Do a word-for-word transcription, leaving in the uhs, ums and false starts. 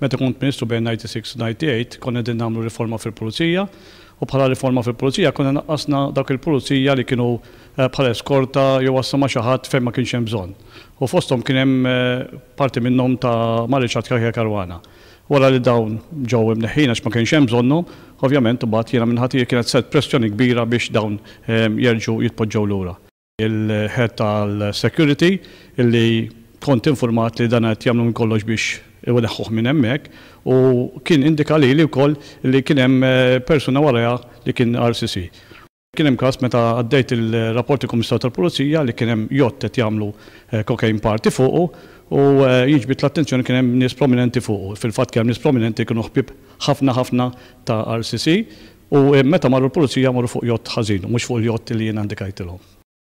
Meta kont Ministru bejn disgħa u disgħin u disgħa u tmenin konna qegħdin nagħmlu riforma fil-Pulizija u bħala riforma fil-Pulizija konna naqqasna dak il-Pulizija li kienu eh, bħala eskorta jew għassa ma' xi ħadd fejn ma kienx hemm bżonn. U fosthom kien hemm eh, parti minnhom ta' ma' Richard Cachia Caruana. Wara li dawn ġew imneħħin għax ma kienx hemm bżonnhom, ovvjament imbagħad jiena minn ħati kienet set pressjoni kbira biex dawn eh, jerġgħu jitpoġġew lura. Il-head tal-security illi kont informat li dan qed jagħmlu minn kollox biex ineħħuh minn hemmhekk u kien indika li li wkoll li kien hemm eh, persuna warajha li kien R C C. Kien hemm każ meta għaddejt il-rapporti Kummissarju tal-Pulizija li kien hemm jott qed jagħmlu eh, cocaine party fuqu u eh, jiġbid l-attenzjoni kien hemm nies prominenti fuqu. Fil-fatt kien hemm nies prominenti kienu ħbieb ħafna ħafna ta' R C C u meta marru l-Pulizija marru fuq jott ħażin u mhux fuq il-jott li jien indikajtilhom.